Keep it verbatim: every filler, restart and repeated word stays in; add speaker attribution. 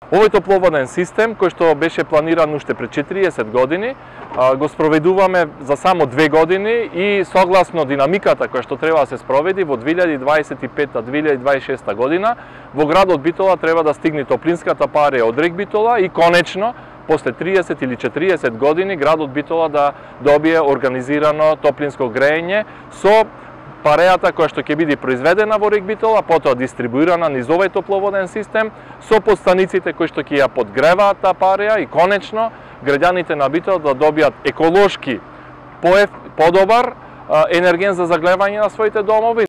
Speaker 1: Овој топловоден систем, кој што беше планиран уште пред четириесет години, го спроведуваме за само две години и согласно динамиката која што треба да се спроведи во две илјади дваесет и пета - две илјади дваесет и шеста година, во градот Битола треба да стигне топлинската парија од РЕК Битола и конечно, после триесет или четириесет години, градот Битола да добие организирано топлинско грејење со парејата која што ќе биде произведена во РЕК Битола, потоа дистрибуирана низ овој топловоден систем, со подстаниците кои што ќе ја подгреваат таа пареја и конечно граѓаните на Битола да добијат еколошки подобар енерген за заглевање на своите домови,